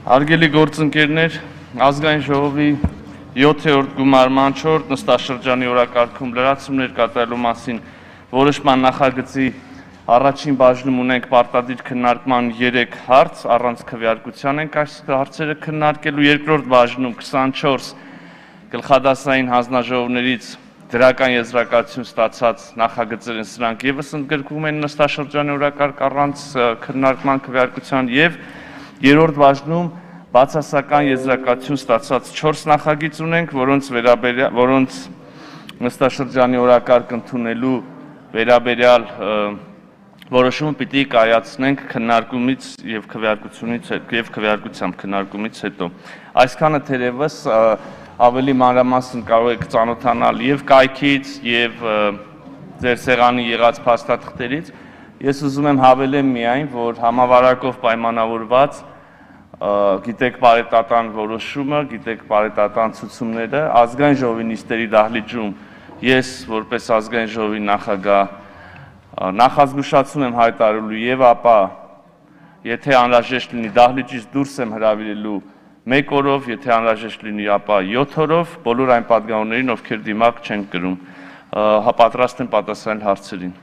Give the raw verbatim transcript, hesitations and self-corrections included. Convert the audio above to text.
Հարգելի գործընկերներ, ազգային ժողովի յոթերորդ գումարման չորրորդ նստաշրջանի օրակարգում լրացումներ կատարելու մասին որոշման նախագծի առաջին բաժնում ունենք պարտադիր քննարկման երեք հարց, առանց քվեարկության ենք այս հարցերը քննարկելու, երկրորդ բաժնում քսանչորս գլխադասային հանձնաժողովներից դրական եզրակացություն ստացած նախագծեր են, սրանք ևս ընդգրկվում են նստաշրջանի օրակարգ առանց քննարկման քվեարկության եւ երրորդ բաժնում բացասական եզրակացություն ստացած չորս նախագիծ ունենք, որոնց վերաբերյալ որոնց նստաշրջանի օրակարգ ընդունելու վերաբերյալ որոշումը պիտի կայացնենք քննարկումից եւ քվեարկությունից եւ քվեարկությամբ քննարկումից հետո։ Այսքանը թերևս ավելի մանրամասն կարող եք ծանոթանալ եւ կայքից եւ ձեր սեղանի եղած փաստաթղթերից։ Ես ուզում եմ հավելեմ միայն, որ համավարակով պայմանավորված գիտեք պարետատան որոշումը, գիտեք պարետատան ցուցումները, ազգային ժողովի նիստերի դահլիճում ես որպես ազգային ժողովի նախագահ նախազգուշացում եմ հայտարարելու եւ ապա եթե անհրաժեշտ լինի դահլիճից դուրս եմ հրավիրելու մեկ օրով, եթե անհրաժեշտ լինի ապա յոթ օրով, բոլոր այն պատգամավորներին, ովքեր դիմակ չեն կրում, պատրաստ եմ պատասխանել հարցերին։